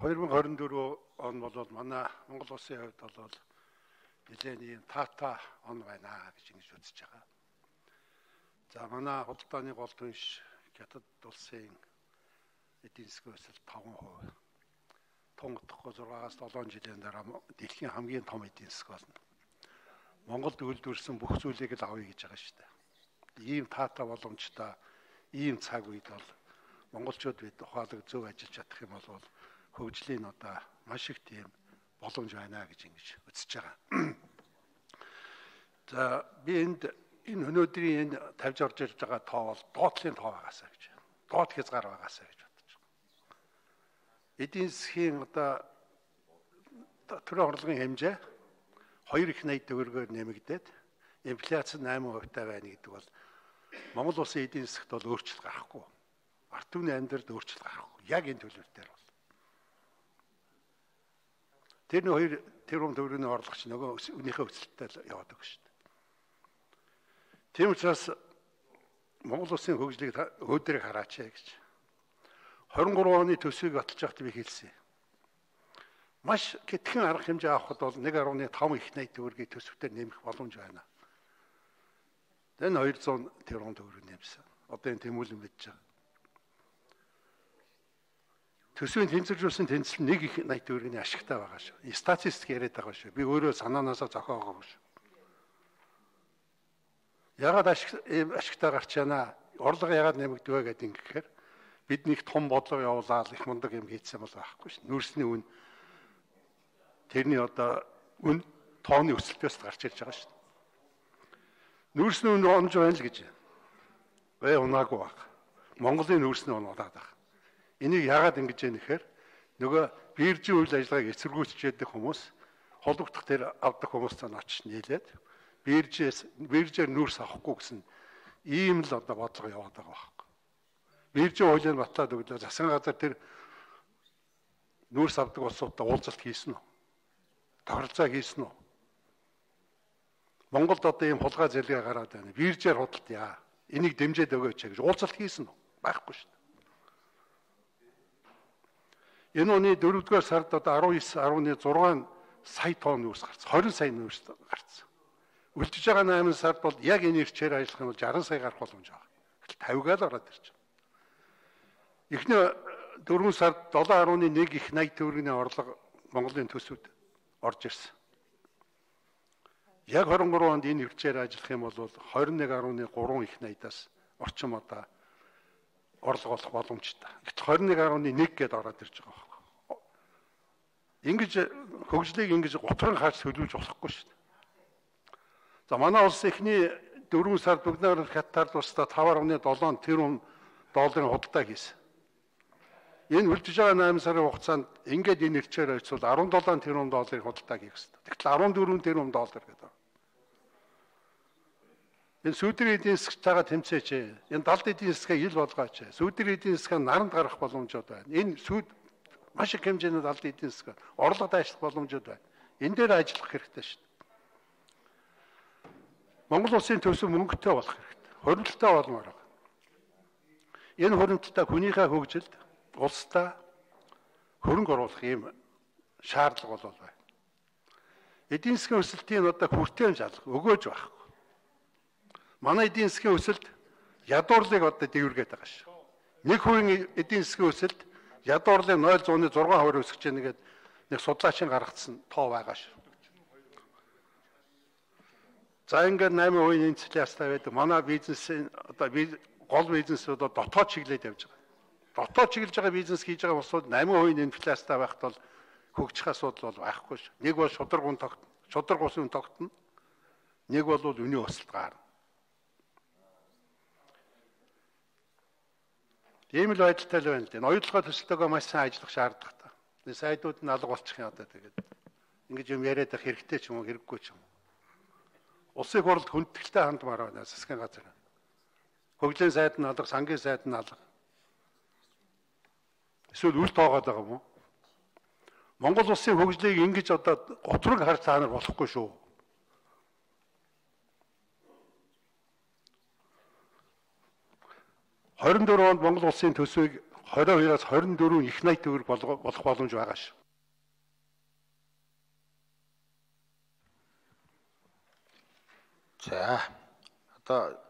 2024 он бол манай Монгол улсын хувьд бол нэлээд ийм таатай он байна гэж ингэж үзэж байгаа. За манай худалдааны гол түнш Хятад улсын эдийн засгийн өсөлт 5%. Тонгодохгүй 6-аас 7 жилийн дараа дэлхийн хамгийн том эдийн засаг болно. Монголд үйлдвэрсэн бүх зүйлийг л авъя гэж байгаа шүү дээ. Ийм таатай боломжтой ийм цаг үед бол монголчууд бид ухаалаг зөв ажиллаж чадах юм бол хөгжлийн одоо маш их тийм боломж байна гэж ингэж үзэж байгаа. За би энэ өнөөдрийн энэ тавьж орж ирж байгаа тоо бол доотлын тоо байгаасаа гэж. Доот хязгаар байгаасаа гэж бодож байгаа. Эдийн засгийн одоо төрийн орлогын хэмжээ 2,80 төгрөгөөр нэмэгдээд инфляц 8% байна гэдэг бол Монгол улсын эдийн засагт бол өөрчлөлт гарахгүй. Ард түмний амьдралд өөрчлөлт гарахгүй. Яг энэ төлөвлөлтөөр бол. Тэр 2 тэрбум төгрөгийн орлогч нөгөө үнийхээ өсөлтөд яваад байгаа шүү дээ. Тийм учраас Монгол улсын хөгжлийг өөдрийг хараач гэж. 23 оны төсвийг баталж байхад би хэлсэн. Маш хитгэн арга хэмжээ авахд бол 1.5 их 80 төгрөгийн төсөвтөөр нэмэх боломж байна. Тэн 200 тэрбум төгрөг нэмсэн. Одоо энэ тэмүүлэн мэдж байгаа. Төсвийн тэнцвэржүүлсэн тэнцэл 1 их 80 төгрөгийн ашигтай байгаа шүү. Статистик яриад байгаа шүү. Би өөрөө санаанаасаа зохиогоогүй шүү. Ягаад ашигтай гарч яана? Орлого ягаад нэмэгдвэ гэдэг ингэхээр бид нэг том бодлого явуулаад их мундаг юм хийцсэн бол байхгүй шүү. Нүүрсний үн тэрний одоо үн тооны өсөлтөөс гарч ирж байгаа шүү. Нүүрсний үн онж байна л гэж. Унаагүй баг. Монголын нүүрсний үн удаад баг. Энийг яагаад ингэж яах нэхээр нөгөө биржийн үйл ажиллагааг эсэргүүцчихэд хүмүүс холбогдох тэр авдаг хүмүүстэй очиж нийлээд биржээр нүүрс авахгүй гэсэн ийм л одоо бодлого яваад байгаа байхгүй. Биржийн хуулийг батлаад өглөө засгийн газар тэр нүүрс авдаг улсуудтай уулзалт хийсэн үү? Тохиролцоо хийсэн үү? Монголд одоо ийм хулгай зэрлэг гараад байна. Биржээр худалдаа. Энийг дэмжиж өгөөч гэж уулзалт хийсэн үү? Байхгүй шүү дээ. Энэ оны 4-р сард одоо 19.6 сая тонн нүүрс гарсан. 20 сая нүүрс гарсан. Үлдэж байгаа 8 сард бол яг энэ ирчээр ажиллах юм бол 60 сая гарах боломж байгаа. 50-гаар л ороод ирж байгаа. Эхний 4 сард 7.1 их 80 төгрөгийн орлого Монголын төсөвд орж ирсэн. Яг 23 онд энэ ирчээр ажиллах юм бол 21.3 их 80-аас орчим одоо орлого олох боломжтой. 21.1 гэдээ ороод ирж байгаа. Ингэж хөгжлийг ингэж готрон хаач төлөвлөж болохгүй шүү дээ. За манай улс эхний 4 сард бүгнээр Хятад улстай 5.7 тэрбум долларын худалдаа хийсэн. Энэ үлдэж байгаа 8 сарын хугацаанд ингээд энэ ирчээр ойцвол 17 тэрбум долларын худалдаа хийх хэрэгтэй. Тэгтэл 14 тэрбум доллар гэдэг. Энэ сүүдрийн эдийн засгтайгаа тэмцээч. Энэ далд эдийн засгаа ил болгооч. Сүүдрийн эдийн засгаа наранд гарах боломжууд байна. Энэ маш их хэмжээний далд эдийн засаг орлого дайшлах боломжууд байна. Энэ дээр ажиллах хэрэгтэй шүү дээ. Монгол улсын төсөв мөнгөтэй болох хэрэгтэй. Хуримтлалтай болмоор байна. Энэ хуримтлалтай хүнийхээ хөгжилд улстай хөрөнгө оруулах юм шаардлага бол байна. Эдийн засгийн өсөлтийн одоо хүртээн жалах өгөөж байхгүй. Манай эдийн засгийн өсөлт ядуурлыг одоо дэвэргээд байгаа шүү. Нэг хувийн эдийн засгийн өсөлт ядуурлыг 0.6% өсгөж яана гэдэг нэг судлаачийн гаргацсан тоо байгаа шүү. За ингээд 8% инфляцтай байдаг. Манай бизнесийн одоо гол бизнесүүд дотоод чиглэлд явж байгаа. Дотоод чиглэж байгаа бизнес хийж байгаа улсууд 8% инфляцтай байхад бол хөгжих асуудал бол байхгүй шүү. Нэг бол шудраг усын тогтно. Нэг бол үнийн өсөлт гарна. Ийм л байдалтай л байна л дээ. Оюутлогоо төсөлтөөгөө маш сайн ажиллах шаардлагатай. Энэ сайдууд нь алга болчих юм одоо тэгээд. Ингэж юм яриад байх хэрэгтэй ч юм уу хэрэггүй ч юм уу. Улсын хурлд хүндэтгэлтэй хандмаар байна засгийн газар. Хөгжлийн сайд нь алга, сангийн сайд нь алга. Эсвэл үл тоогоод байгаа юм уу? Монгол улсын хөгжлийг ингэж одоо готрог харж цаанаар болохгүй шүү. $24 онд Монгол улсын төсвийг 22-аас 24 их 80 төгрөг болох боломж байгаа шүү. За одоо